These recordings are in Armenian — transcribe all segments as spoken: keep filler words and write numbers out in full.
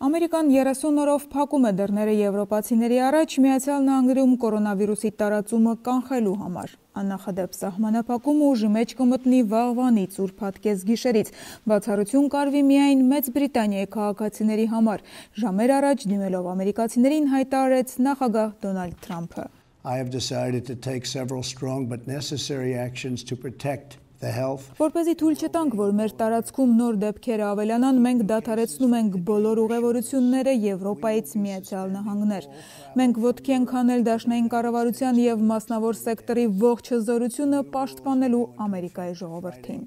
Ամերիկան երեսուն օրով փակում է դռները եվրոպացիների առաջ Միացյալ Նահանգներում կորոնավիրուսի տարածումը կանխելու համար։ Աննախադեպ սահմանափակումը ուժի մեջ կմտնի վաղվանից ուրբաթ կեսգիշերից։ Բացառություն կարվի միայն Մեծ Բրիտանիայի քաղաքացիների համար։ Ժամեր առաջ դիմելով ամերիկացիներին հայտարարեց նախագահ Դոնալդ Թրամփը։ I have decided to take several strong but necessary actions to protect the health. Որպեսզի թույլ չտանք, որ մեր տարածքում նոր դեպքերը ավելանան, մենք դադարեցնում ենք բոլոր ուղևորությունները Եվրոպայից Միացյալ Նահանգներ։ Մենք ոտքի ենք հանել դաշնային կառավարության և մասնավոր սեկտորի ողջ հզորությունը պաշտպանելու Ամերիկայի ժողովրդին։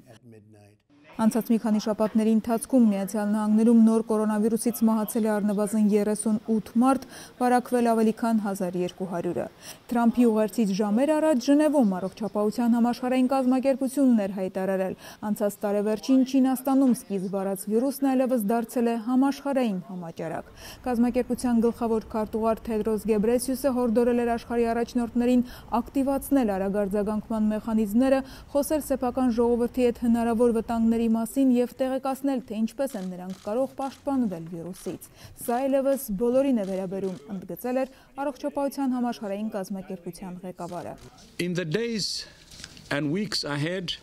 Անցած մի քանի շաբաթների ընթացքում Միացյալ Նահանգներում նոր կորոնավիրուսից մահացել է առնվազն երեսունութ մարդ, վարակվել ավելի քան հազար երկու հարյուրը։ Թրամփի ուղերձից ժամեր առաջ Ժնևում առողջապահության համաշխարհային կազմակերպությունն էր հայտարարել։ Անցած տարեվերջին Չինաստանում սկիզբ առած վիրուսն այլևս դարձել է համաշխարհային համաճարակ։ Կազմակերպության գլխավոր քարտուղար Թեդրոս Գեբրեսիուսը հորդորել էր աշխարհի առաջնորդներին ակտիվացնել արագարձագանքման մեխանիզմները, խոսել սեփական ժողովրդի հետ հնարավոր վտանգների մասին և տեղեկացնել, թե ինչպես են նրանք կարող պաշտպանվել վիրուսից։ Սա այլևս բոլորին է վերաբերում, ընդգծել էր առողջապահության համաշխարհային կազմակերպության ղեկավարը։ In the days and weeks ahead,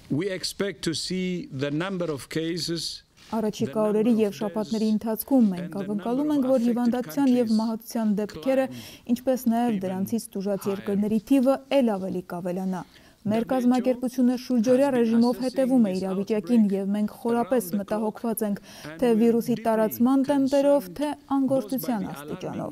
we expect to see the number of cases. Առաջիկա օրերի և շաբաթների ընթացքում մենք ակնկալում ենք, որ հիվանդության և մահացության դեպքերը, ինչպես նաև դրանցից տուժած երկրների թիվը էլ ավելի կավելանա։ Մեր կազմակերպությունը շուրջօրյա ռեժիմով հետևում է իրավիճակին և մենք խորապես մտահոգված ենք թե վիրուսի տարածման տեմպերով, թե անգործության աստիճանով։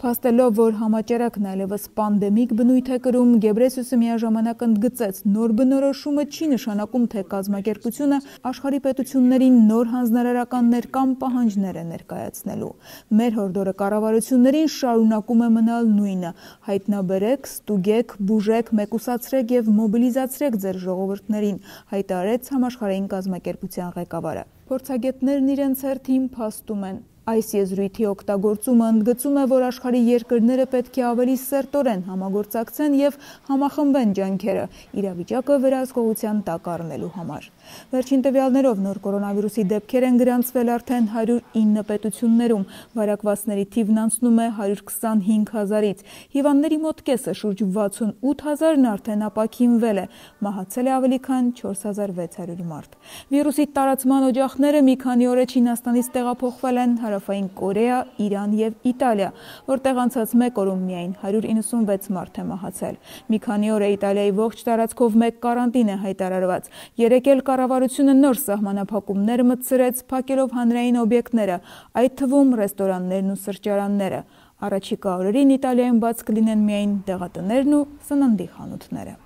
Փաստելով, որ համաճարակն այլևս պանդեմիկ բնույթ է կրում, Գեբրեսիուսը միաժամանակ ընդգծեց, նոր բնորոշումը չի նշանակում, թե կազմակերպությունը աշխարհի պետություններին նոր հանձնարարականներ կամ պահանջներ է ներկայացնելու։ Մեր հորդորը կառավարություններին շարունակում է մնալ նույնը՝ հայտնաբերեք, ստուգեք, բուժեք, մեկուսացրեք և մոբիլիզացրեք ձեր ժողովուրդներին, հայտարարեց համաշխարհային կազմակերպության ղեկավարը։ Փորձագետներն իրենց հերթին փաստում են։ Այս եզրույթի օգտագործումը ընդգծում է, որ աշխարհի երկրները պետք է ավելի սերտորեն համագործակցեն և համախմբեն ջանքերը իրավիճակը վերահսկողության տակ առնելու համար։ Վերջին տվյալներով նոր կորոնավիրուսի դեպքեր են գրանցվել արդեն հարյուր ինը պետություններում, վարակվածների թիվն անցնում է հարյուր քսանհինգ հազարից, հիվանդների մոտ կեսը շուրջ վաթսունութ հազարն արդեն ապաքինվել է, մահացել է ավելի քան չորս հազար վեց հարյուր մարդ։ Վիրուսի տարածման օջախները մի քանի օր է Չինաստանից տեղափոխվել են Հարավային Կորեա, Իրան և Իտալիա, որտեղ անցած մեկ օրում միայն հարյուր իննսունվեց մարդ է մահացել։ Մի քանի օր է Իտալիայի ողջ տարածքով մեկ կարանտին է հայտարարված։ Երեկ էլ կառավարությունը նոր սահմանափակումներ մտցրեց, փակելով հանրային օբյեկտները, այդ թվում ռեստորաններն ու սրճարանները։ Առաջիկա օրերին Իտալիայում բաց կլինեն միայն դեղատներն ու սննդի խանութները։